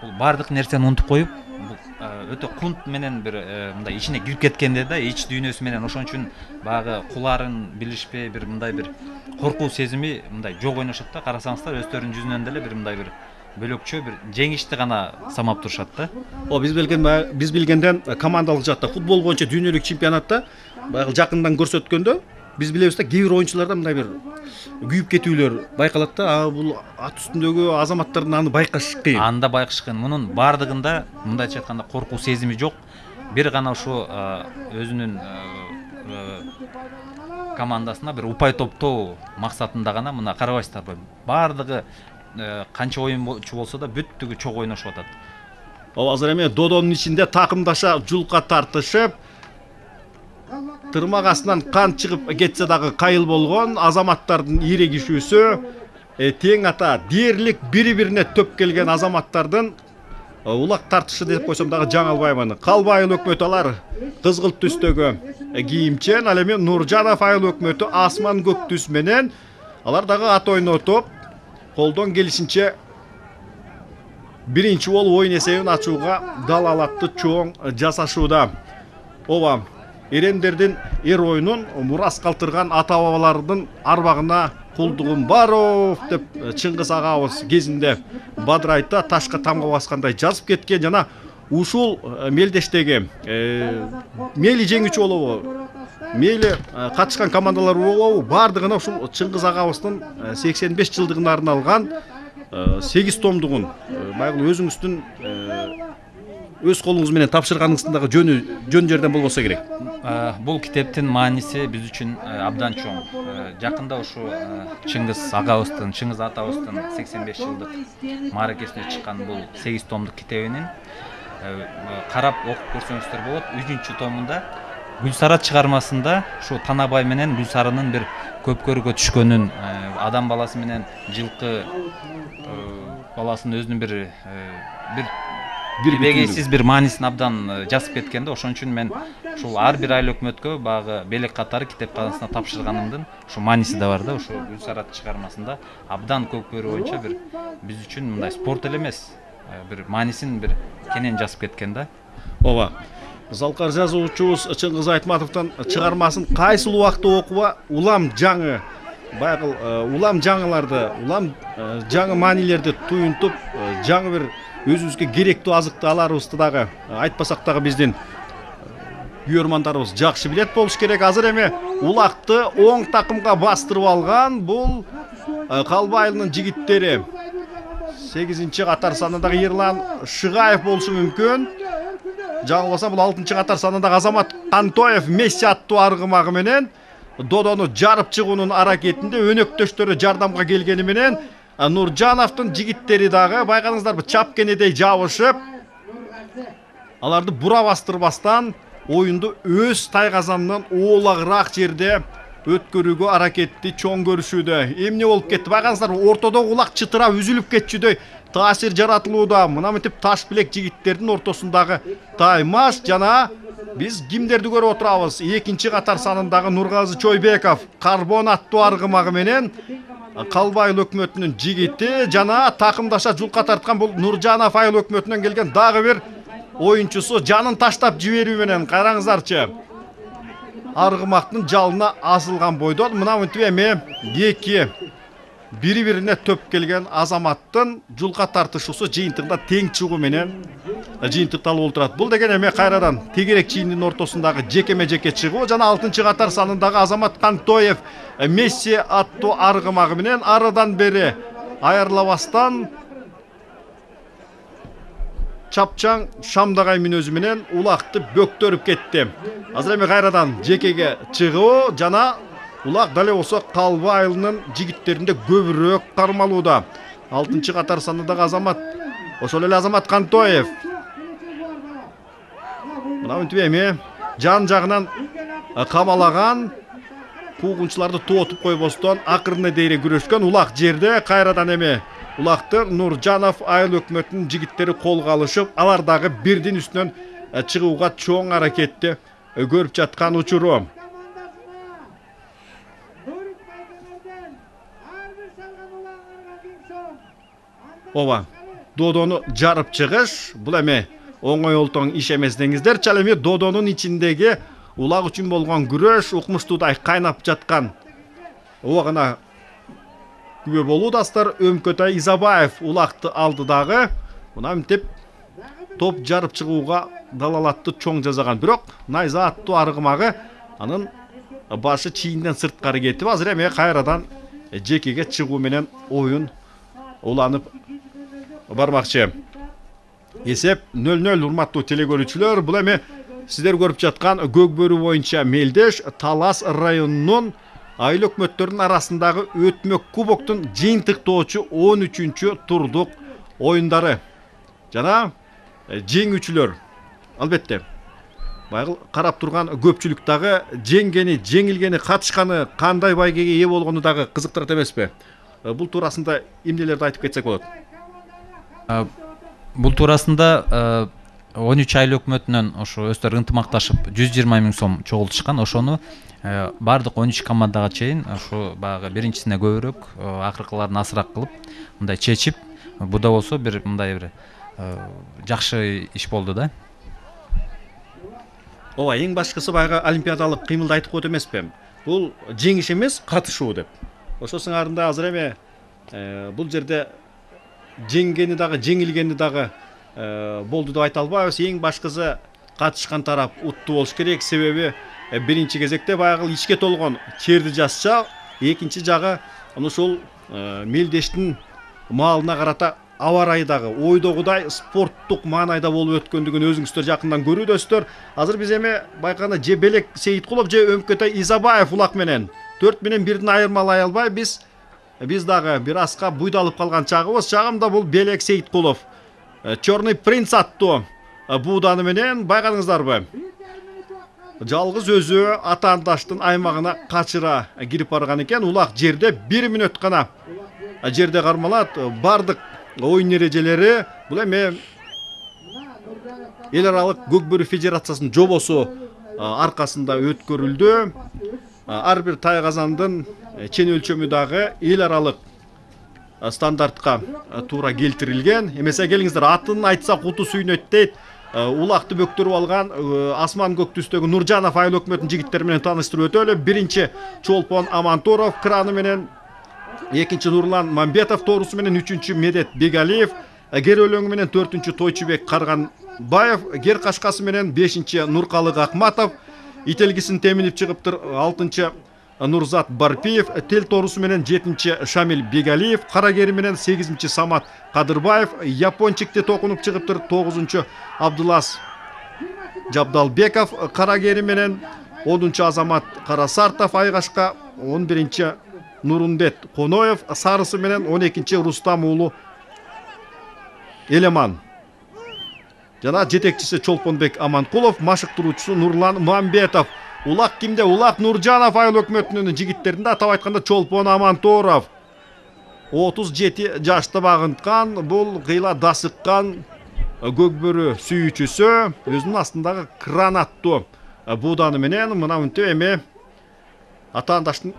бул бардык нерсени унутуп коюп, бул өтө кунт менен бир мындай ичине кирип кеткенде да, ич дүйнөсү менен ошон үчүн баягы куларын билишпей бир мындай бир коркуу сезими мындай жок ойношот да. Карасаңыздар өздөрүнүн жүзүнөн деле бир мындай бир бөлөкчө бир жеңишти гана самап турушат да. О, биз билген биз билгенден командалык жакта футбол боюнча дүйнөлүк чемпионатта баягы жакындан көрсөткөндө биз билебиз да, кээ бир оюнчуларда мындай бир күйүп кетүүлөр байкалат да. А бул ат үстүндөгү азаматтардын аны байкаш кыйын. Анда байкаш кыйын. Мунун бардыгында мындайча айтканда коркуу сезими жок. Бир гана ушу өзүнүн командасына бир упай топтоо максатында гана мына карабайсыздарбы? Бардыгы канча оюнчу болсо да бүттүгү чок ойношуп атат. Ооба, азыр эми додонун ичинде такымдаша жулка тартышып, тырмак астынан кан чыгып кетсе дагы кайыл болгон азаматтардын ирегишүүсү, тең ата дээрлик бири-бирине төп келген азаматтардын улак тартышы деп койсом дагы жаңылбаймын. Калбы айыл өкмөтү алар кызгылт түстөгү кийимчен, ал эми Нуржанов айыл өкмөтү асман көк түс менен, алар дагы ат ойнотуп, колдон келишинче биринчи болуп оюн эсебин ачууга далалатты чоң жасашууда. Ооба, эремдердин эр оюнун мурас калтырган ата бабалардын арбагына кулдугум баров деп Чыңгыз агабыз кезинде Бадырайта ташка тамга баскандай жазып кеткен. Жана ушул мелдештеги мейли жеңүүчү болобу, мейли катышкан командалар болобу, бардыгына ушул Чыңгыз агабыздын сексен беш жылдыгына арналган сегиз томдугун байгыл өзүңүздүн өз колуңуз менен тапшырганыңыздагы жөнү жөн жерден болбосо керек. Бул китептин мааниси биз үчүн абдан чоң. Жакында ушу Чыңгыз агабыздын, Чыңгыз атабыздын сексен беш жылдык мааракесине чыккан бул сегиз томдук китебинин карап окуп көрсөңүздөр болот. үчүнчү томунда Гүлсара чыгармасында ушу Танабай менен Гүлсарынын бир көпкөргө түшкөнүн, адам баласы менен жылкы баласынын өзүнүн бир бир бирбегейсиз бир маанисин абдан жазып кеткен да. Ошон үчүн мен ушул ар бир айыл өкмөткө багы белек катары китепканасына тапшырганымдын ушу мааниси да бар да. Ушу Гүлсара чыгармасында абдан көпкөрү боюнча бир биз үчүн мындай спорт эле эмес, бир маанисин бир кенен жазып кеткен да. Ооба. Залкар жазуучубуз Чыңгыз Айтматовдун чыгармасын кайсыл убакта окуба улам жаңы байгыл улам жаңыларды, улам жаңы маанилерди туюнтуп, жаңы бир өзүбүзгө керектүү азыкты аларыбызды дагы айтпасак дагы биздин күйөрмандарыбыз жакшы билет болуш керек. Азыр эми улакты оң такымга бастырып алган бул Калба айылынын жигиттери. сегизинчи катар санындагы Ерлан Шыгаев болушу мүмкүн. Жаңылбасам бул алтынчы катар санындагы Азамат Кантоев Месси аттуу аргымагы менен додону жарып чыгуунун аракетинде өнөктөштөрү жардамга келгени менен Нуржановдун жигиттери дагы байкадыңыздарбы чапкенедей жабышып, аларды бура бастырбастан оюнду өз тайгазанынан оолагыраак жерде өткөрүүгө аракетти чоң көрүшүүдө. Эмне болуп кетти? Байкадыңыздарбы ортодогу улак чытырап үзүлүп кетчүдөй таасир жаратылууда. Мына мынтип таш билек жигиттердин ортосундагы таймаш жана биз кимдерди көрүп отурабыз? Экинчи катар санындагы Нургазы Чойбеков карбон аттуу аргымагы менен Калба айыл өкмөтүнүн жигити жана такымдаша жулка тарткан бул Нуржанов айыл өкмөтүнөн келген дагы бир оюнчусу жанын таштап жиберүү менен караңыздарчы. Аргымактын жалына асылган бойдон мына мынтип эми эки бири-бирине төп келген Азаматтын жулка тартышуусу жыйынтыгында тең чыгуу менен жыйынтыкталып олтурат. Бул деген эми кайрадан тегерек чийиндин ортосундагы жекеме жеке чыгуу жана алтынчы катар санындагы Азамат Кантоев Месси аттуу аргымагы менен арыдан бери айырлабастан чапчаң шамдагай мүнөзү менен улакты бөктөрүп кетти. Азыр эми кайрадан жекеге чыгуу жана улак дале болсо Калба айылынын жигиттеринде көбүрөөк кармалууда. алтынчы катар санындагы Азамат, ошол эле Азамат Кантоев. Мына мынтип эми жан жагынан камалаган куугунчуларды тоотуп койбостон акырына дейре күрөшкөн улак жерде кайрадан эми улакты Нуржанов айыл өкмөтүнүн жигиттери колго алышып, алар дагы бирдин үстүнөн чыгууга чоң аракетти көрүп жаткан учуру. Ооба, додону жарып чыгыш бул эми оңой олтоң иш эмес деңиздер. Чал эми додонун ичиндеги улак үчүн болгон күрөш укмуштуудай кайнап жаткан убагына күбө болуудасыздар. Өмкөтай Изабаев улакты алды дагы. Мына мынтип топ жарып чыгууга далалатты чоң жасаган. Бирок Найза аттуу аргымагы анын башы чийинден сырткары кетип, азыр эми кайрадан жекеге чыгуу менен оюн уланып бармакчы. Эсеп нөл нөл. Урматтуу телекөрүүчүлөр, бул эми сиздер көрүп жаткан Көкбөрү боюнча мелдеш Талас районунун айыл өкмөттөрүнүн арасындагы өтмөк кубоктун жыйынтыктоочу он үчүнчү турдук оюндары жана жеңүүчүлөр. Албетте байгыл карап турган көпчүлүк дагы жеңгени, жеңилгени, катышканы, кандай байгеге ээ болгону дагы кызыктырат эмеспи? Бул туурасында эмнелерди айтып кетсек болот? Бул туурасында он үч айыл өкмөтүнөн ошо өздөрү ынтымакташып жүз жыйырма миң сом чогултушкан. Ошону бардык он үч командага чейин ошо баягы биринчисине көбүрөөк, акыркыларын азыраак кылып мындай чечип, бул да болсо бир мындай бир жакшы иш болду да. Ооба, эң башкысы баягы олимпиадалык кыймылды айтып коет эмеспи? Бул жеңиш эмес, катышуу деп. Ошо сыңарында азыр эме бул жерде жеңгени дагы, жеңилгени дагы болду деп айта албайбыз. Эң башкысы катышкан тарап уттуу болуш керек. Себеби биринчи кезекте баягы ичке толгон черди жасча, экинчи жагы ушул мелдештин маалына карата аба ырайы дагы ойдогудай спорттук маанайда болуп өткөндүгүн өзүңүздөр жакындан көрүүдөсүздөр. Азыр биз эми байкаганда же Белек Сейиткулов же Өмкөтай Изабаев улак менен төрт менен бирдин айырмалай албай биз биз дагы бир аска буйдалып калган чагыбыз. Чагымда бул Белек Сейиткулов Черный принц аттуу бууданы менен байкадыңыздарбы? Жалгыз өзү атаандаштын аймагына качыра кирип барган экен. Улак жерде бир мүнөт гана жерде кармалат. Бардык оюн эрежелери бул эми эл аралык көкбөрү федерациясынын жобосу аркасында өткөрүлдү. Ар бир тайгазандын чен өлчөмү дагы эл аралык стандартка туура келтирилген. Эмесе келиңиздер, атын айтсак уту сүйнөт дейт. Улакты бөктөрүп алган асман көк түстөгү Нуржанов айыл өкмөтүнүн жигиттери менен тааныштырып өтөлү. Биринчи Чолпон Амантуров краны менен, экинчи Нурлан Мамбетов тоорусу менен, үчүнчү Медет Бегалиев, гер өлөңү менен төртүнчү Тойчубек Карганбаев, гер кашкасы менен бешинчи Нуркалык Акматов, ителгисин теминип чыгыптыр алтынчы Нурзат Барпиев, тел тоорусу менен жетинчи Шамил Бегалиев, кара гери менен сегизинчи Самат Кадырбаев, япончикти токунуп чыгыптыр тогузунчу Абдулас Жабдалбеков, кара гери менен онунчу Азамат Карасартов, айгашка он биринчи Нурунбет Коноев, сарысы менен он экинчи Рустам уулу Элеман. Жана жетекчиси Чолпонбек Аманкулов, машыктыруучусу Нурлан Мамбетов. Улак кимде? Улак Нуржанов айыл өкмөтүнүн жигиттеринде, атап айтканда Чолпон Амантуров. отуз жети жашта багынткан, бул кыйла дасыккан көкбөрү сүйүүчүсү өзүнүн астындагы кран аттуу бууданы менен мына мынтип эми атаандаштын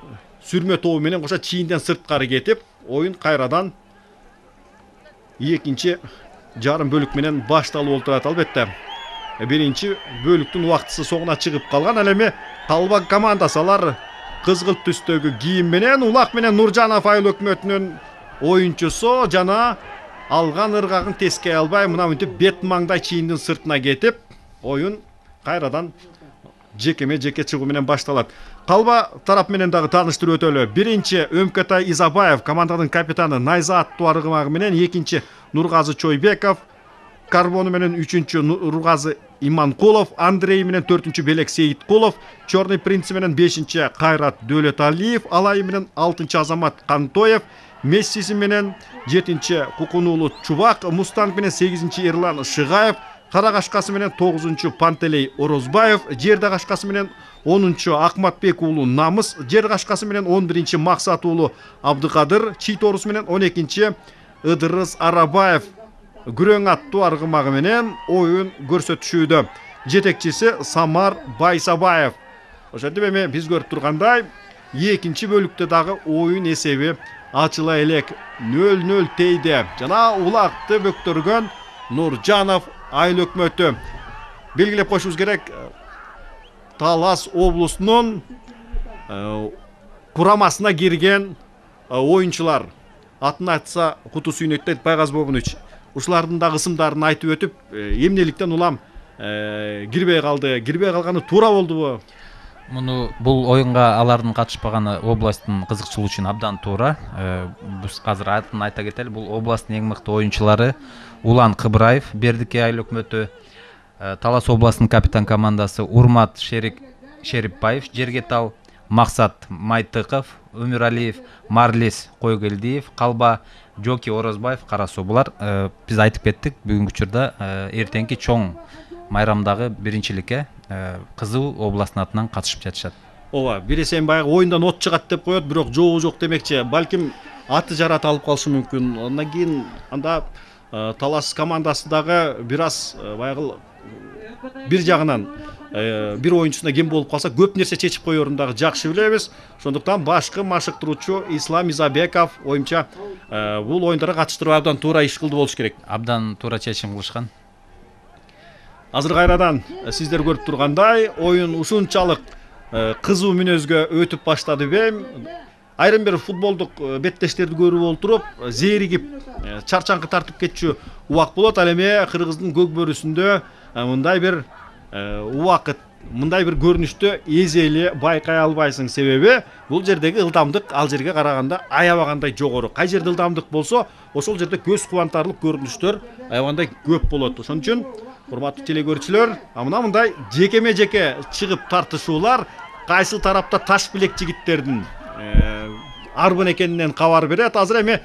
сүрмө тобу менен кошо чийинден сырткары кетип, оюн кайрадан экинчи жарым бөлүк менен башталып олтурат. Албетте биринчи бөлүктүн убактысы соңуна чыгып калган. Ал эми Талба командасы алар кызгылт түстөгү кийим менен Улак менен Нуржанов айыл өкмөтүнүн оюнчусу жана алган ыргагын тескей албай мына мынтип бет маңдай чийиндин сыртына кетип, оюн кайрадан жекеме жеке чыгуу менен башталат. Калба тарап менен дагы тааныштырып өтөлү. Биринчи Өмкөтай Изабаев командадын капитаны Найза аттуу аргымагы менен, экинчи Нургазы Чойбеков карбону менен, үчүнчү Нургазы Иманкулов, Андрей менен төртүнчү Белек Сейиткулов, Черный принц менен бешинчи Кайрат Дөөлөталиев, Алай менен алтынчы Азамат Кантоев, Мессиси менен жетинчи Кукунуулу Чубак, Мустанг менен сегизинчи Эрлан Шыгаев, кара кашкасы менен тогузунчу Пантелей Орозбаев, жерде кашкасы менен онунчу Акматбек уулу Намыс, жер кашкасы менен он биринчи Максат уулу Абдыкадыр, чий тоорусу менен он экинчи Ыдырыс Арабаев күрөң аттуу аргымагы менен оюн көрсөтүшүүдө. Жетекчиси Самар Байсабаев. Ошентип эми биз көрүп тургандай экинчи бөлүктө дагы оюн эсеби ачыла элек нөл нөл тейде. Жана улакты бөктөргөн Нуржанов айыл өкмөтү. Белгилеп коюшубуз керек, Талас облусунун курамасына кирген оюнчулар. Атын айтса куту сүйнөттөйт Байгаз Бобунович. Ушулардын да ысымдарын айтып өтүп, эмнеликтен улам кирбей калды, кирбей калганы туура болдубу? Муну бул оюнга алардын катышпаганы областтын кызыкчылыгы үчүн абдан туура. Биз азыр атын айта кетели. Бул областтын эң мыкты оюнчулары Улан Кыбыраев, Бердике айыл өкмөтү, Талас областынын капитан командасы Урмат Шерик Шерипбаев, Жергетал Максат Майтыков, Өмүралиев Марлис Койгелдиев, Калба Жоки Орозбаев, Карасуу. Булар биз айтып кеттик, бүгүнкү учурда эртеңки чоң майрамдагы биринчиликке Кызыл областынын атынан катышып жатышат. Ооба, биресен баягы оюндан от чыгат деп коет, бирок жообу жок демекчи. Балким аты жарат алып калышы мүмкүн. Андан кийин анда Талас командасы дагы бир аз баягы бир жагынан бир оюнчусуна кем болуп калса көп нерсе чечип коерун дагы жакшы билебиз. Ошондуктан башкы машыктыруучу Ислам Изабеков оюмча бул оюндарга катыштырып абдан туура иш кылды болуш керек. Абдан туура чечим кылышкан. Азыр кайрадан сиздер көрүп тургандай оюн ушунчалык кызуу мүнөзгө өтүп баштады бем. Айрым бир футболдук беттештерди көрүп олтуруп, зээригип, чарчаңкы тартып кетчү убак болот. Ал эми кыргыздын көк бөрүсүндө мындай бир убакыт, мындай бир көрүнүштү эзели байкай албайсың. Себеби бул жердеги ылдамдык ал жерге караганда аябагандай жогору. Кай жерде ылдамдык болсо, ошол жерде көз кубантарлык көрүнүштөр аябагандай көп болот. Ошон үчүн урматтуу телекөрүүчүлөр, мына мындай жекеме жеке чыгып тартышуулар кайсы тарапта таш билек жигиттердин арбын экенинен кабар берет. Азыр эми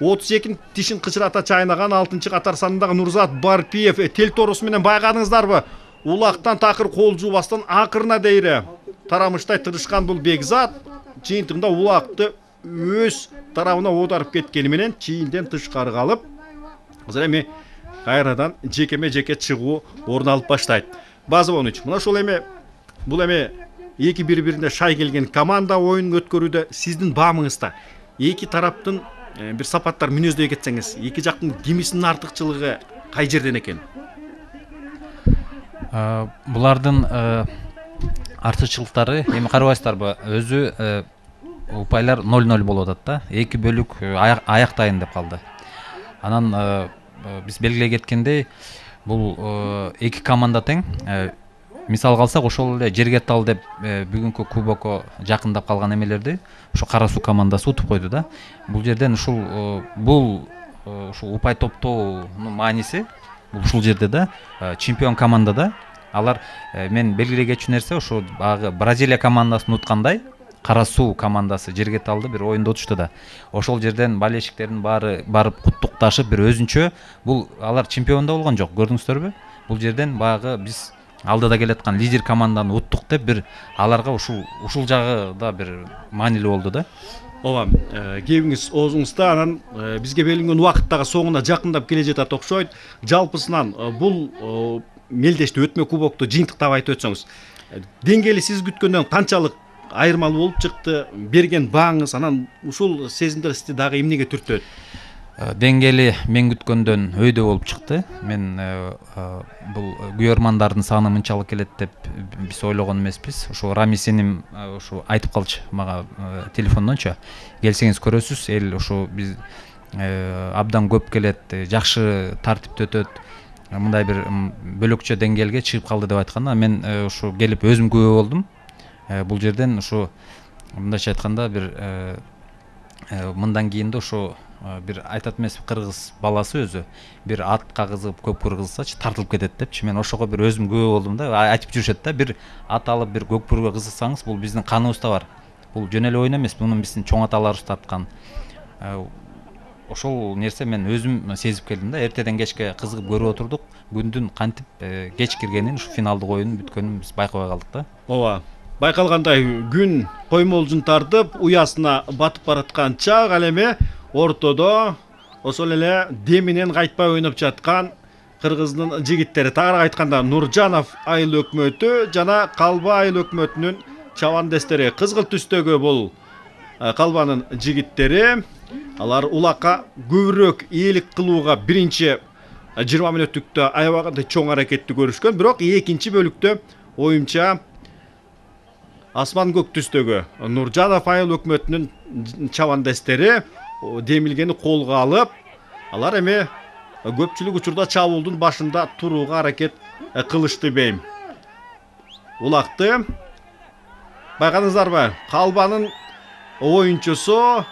отуз эки тишин кычырата чайнаган алтынчы катар санындагы Нурзат Барпиев тел тоорусу менен байкадыңыздарбы? Улактан такыр кол жуубастан акырына дейре тарамыштай тырышкан бул Бекзат жыйынтыгында улакты өз тарабына оодарып кеткени менен чийинден тышкары калып, азыр эми кайрадан жекеме жеке чыгуу орун алып баштайт. Базовонович, мына ошол эми бул эми эки бири-бирине шай келген команда оюн өткөрүүдө сиздин баамыңызда эки тараптын бир сапаттар мүнөздөй кетсеңиз, эки жактын кимисинин артыкчылыгы кай жерден экен? Булардын артыкчылыктары эми карабайсыздарбы, өзү упайлар ноль ноль болуп атат да. эки бөлүк аяктайын деп калды. Анан биз белгилей кеткендей, бул эки команда тең. Мисалга алсак, ошол эле Жергетал деп бүгүнкү кубокко жакындап калган эмелерди ошо Кара суу командасы утуп койду да. Бул жерден ушул бул ушул упай топтоонун мааниси бул ушул жерде да, чемпион командада алар мен белгилей кетчү нерсе ошо багы Бразилия командасын уткандай Кара суу командасы Жергеталды бир оюнда утушту да. Ошол жерден болельщиктердин баары барып куттукташып бир өзүнчө, бул алар чемпион да болгон жок, көрдүңүздөрбү? Бул жерден багы биз алдыда келаткан лидер команданы уттук деп бир аларга ушул ушул жагы да бир маанилүү болду да. Ооба, кебиңиз оозуңузда, анан бизге белгиленген убакыт дагы соңуна жакындап келе жатат окшойт. Жалпысынан бул мелдешти өтмө кубокту жыйынтыктап айтып өтсөңүз, деңгээли сиз күткөндөн канчалык айырмалуу болуп чыкты, берген бааңыз, анан ушул сезимдер сизди дагы эмнеге түртөт? Деңгээли мен күткөндөн өйдө болуп чыкты. Мен бул күйөрмандардын саны мынчалык келет деп биз ойлогон эмеспиз. Ошо Рамисеним ошо айтып калчу мага телефондончу. Келсеңиз көрөсүз, эл ошо биз абдан көп келет, жакшы тартипте өтөт. Мындай бир бөлөкчө деңгээлге чыгып калды деп айтканда, мен ошо келип өзүм күбө болдум. Бул жерден ошо мындайча айтканда бир мындан кийин да ошо бир айтат эмес, кыргыз баласы өзү бир атка кызыгып көп кыргызсачы тартылып кетет депчи. Мен ошого бир өзүм күбө болдум да. Айтып жүрүшөт да, бир ат алып бир көкпүргө кызыксаңыз, бул биздин каныбызда бар. Бул жөн эле оюн эмес, муну биздин чоң аталарыбыз тарткан. Ошол нерсе мен өзүм сезип келдим да. Эртеден кечке кызыгып көрүп отурдук. Күндүн кантип кеч киргенин, ушу финалдык оюнун бүткөнүн биз байкабай калдык да. Ооба. Байкалгандай күн коймолжун тартып, уясына батып бараткан чак, ал эми ортодо ошол эле деминен кайтпай ойноп жаткан кыргыздын жигиттери, тагыраак айтканда Нуржанов айыл өкмөтү жана Калба айыл өкмөтүнүн чабандестери. Кызгыл түстөгү бул Калбанын жигиттери. Алар улакка көбүрөөк ээлик кылууга биринчи жыйырма мүнөттүктө аябагандай чоң аракетти көрүшкөн, бирок экинчи бөлүктө оюмча асман көк түстөгү Нуржанов айыл өкмөтүнүн чабандестери демилгени колго алып, алар эми көпчүлүк учурда чабуулдун башында турууга аракет кылышты бейм. Улакты байкадыңыздарбы? Калбанын оюнчусу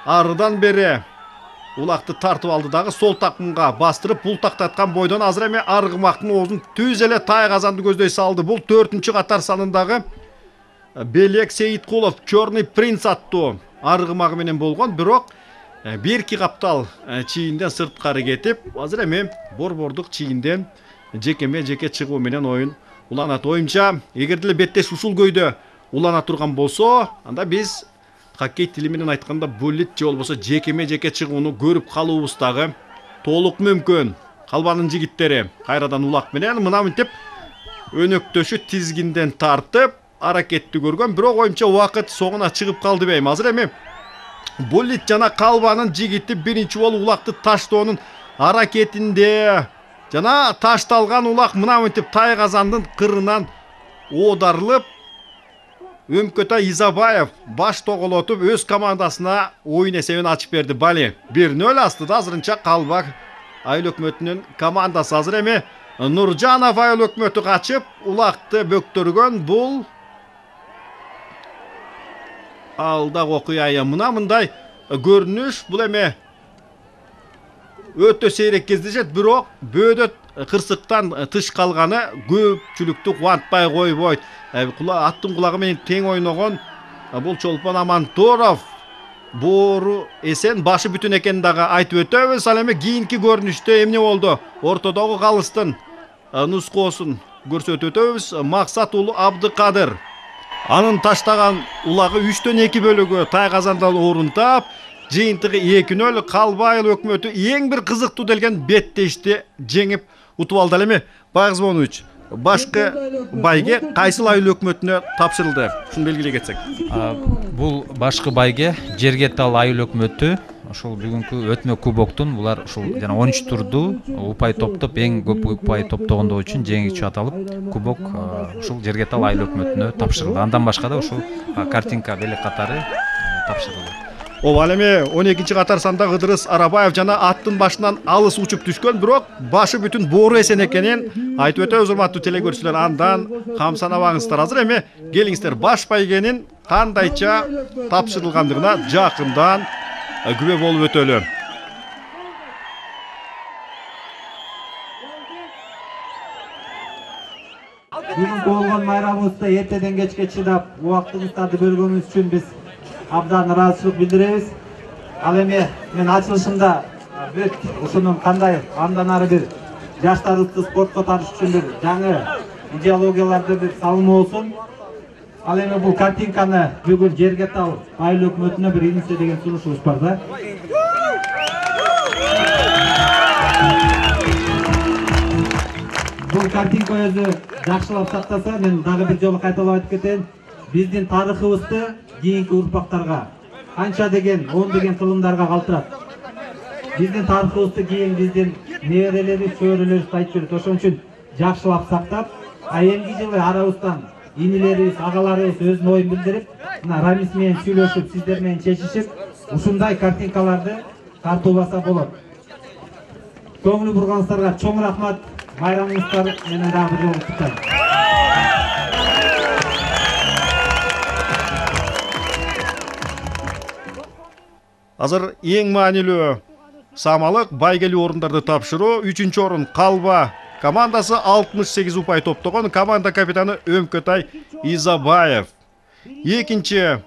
арыдан бери улакты тартып алды дагы сол такымга бастырып, бул тактаткан бойдон азыр эми аргымактын оозун түз эле тай казанды көздөй салды. Бул төртүнчү катар санындагы Белек Сейиткулов Чорный принц аттуу аргымагы менен болгон, бирок бирки каптал чийинден сырткары кетип, азыр эми борбордук чийинден жекеме жеке чыгуу менен оюн уланат. Оюмча, эгерде эле беттеш ушул көйдө улана турган болсо, анда биз хоккей тили менен айтканда буллит же болбосо жекеме жеке чыгууну көрүп калуубуз дагы толук мүмкүн. Калбанын жигиттери кайрадан улак менен мына мынтип өнөктөшү тизгинден тартып аракетти көргөн, бирок оюмча убакыт соңуна чыгып калды бейм. Азыр эми Буллит жана Калбанын жигити биринчи болуп улакты таштоонун аракетинде жана ташталган улак мына мынтип тай казандын кырынан оодарылып, Өмкөтай Изабаев баш тоголотуп өз командасына оюн эсебин ачып берди. Бали бир нөл астыда азырынча Калба айыл өкмөтүнүн командасы. Азыр эми Нуржанов айыл өкмөтү качып улакты бөктөргөн. Бул алдагы окуя мына мындай көрүнүш. Бул эми өтө сейрек кездешет, бирок бөөдө кырсыктан тыш калганы көпчүлүктү кубантпай койбойт. Аттын кулагы менен тең ойногон бул Чолпон Аманторов боору эсен, башы бүтүн экенин дагы айтып өтөбүз. Ал эми кийинки көрүнүштө эмне болду? Ортодогу калыстын нускоосун көрсөтүп өтөбүз. Максат уулу Абдыкадыр анын таштаган улагы үчтөн эки бөлүгү тай казанда орун таап, жыйынтыгы эки нөл. Калба айыл өкмөтү эң бир кызыктуу делген беттешти жеңип утуп алды. Ал эми Байгыз Монович, башкы байге кайсыл айыл өкмөтүнө тапшырылды? Ушуну белгилей кетсек. Бул башкы байге Жергетал айыл өкмөтү ушул бүгүнкү өтмө кубоктун булар ушул жана он үч турду упай топтоп эң көп упай топтогондо үчүн жеңүүчү аталып, кубок ушул Жергетал айыл өкмөтүнө тапшырылды. Андан башка да ушул картинка белек катары тапшырылды. Ооба, ал эми он экинчи катар санда Кыдырыс Арабаев жана аттын башынан алыс учуп түшкөн, бирок башы бүтүн боору эсен экенин айтып өтөбүз, урматтуу телекөрүүчүлөр. Андан камсанабаңыздар. Азыр эми келиңиздер баш байгенин кандайча тапшырылгандыгына жакындан күбө болуп өтөлү. Бүгүнкү болгон майрамыбызда эртеден кечке чыдап убактыбыздарды бөлгөнүбүз үчүн биз абдан ыраазычылык билдиребиз. Ал эми мен ачылышымда бүт ушунун кандай андан ары бир жаштарыбызды спортко тартыш үчүн бир жаңы идеологияларды бир салымы болсун. Ал эми бул картинканы бүгүн Жергетал айыл өкмөтүнө бир инисе деген сунушубуз бар да. Бул картинка өзү жакшылап сактаса, мен дагы бир жолу кайталап айтып кетейин. Биздин тарыхыбызды кийинки урпактарга канча деген, он деген кылымдарга калтырат. Биздин тарыхыбызды кийин биздин неберелерибиз, чөйрөлөрүбүз айтып жүрөт. Ошон үчүн жакшылап сактап, а эмки жылы арабыздан инилерибиз, агаларыбыз өзүнүн оюн билдирип, мына Рамис менен сүйлөшүп, сиздер менен чечишип, ушундай картинкаларды тартууласа болот. Көңүл бурганыңыздарга чоң рахмат. Майрамыңыздар менен дагы бир жолу куттуктайм. Азыр эң маанилүү самалык байгелүү орундарды тапшыруу. Үчүнчү орун Калба командасы алтымыш сегиз упай топтогон, команда капитаны Өмкөтай Изабаев. Экинчи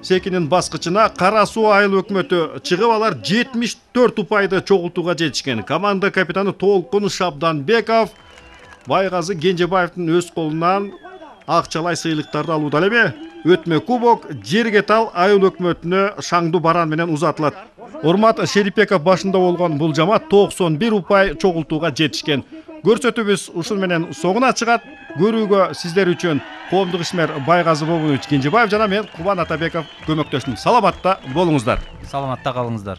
секинин баскычына Кара Суу айыл өкмөтү чыгып, алар жетимиш төрт упайды чогултууга жетишкен. Команда капитаны Толкун Шабданбеков Байгазы Кенжебаевдин өз колунан акчалай сыйлыктарды алууда. Ал эми өтмө кубок Жергетал айыл өкмөтүнө шаңдуу баран менен узатылат. Урмат Шерипбеков башында болгон бул жамаат токсон бир упай чогултууга жетишкен. Көрсөтүүбүз ушун менен соңуна чыгат. Көрүүгө сиздер үчүн коомдук ишмер Байгазы Кенжебаев жана мен Кубан Атабеков көмөктөштүм. Саламатта болуңуздар. Саламатта калыңыздар.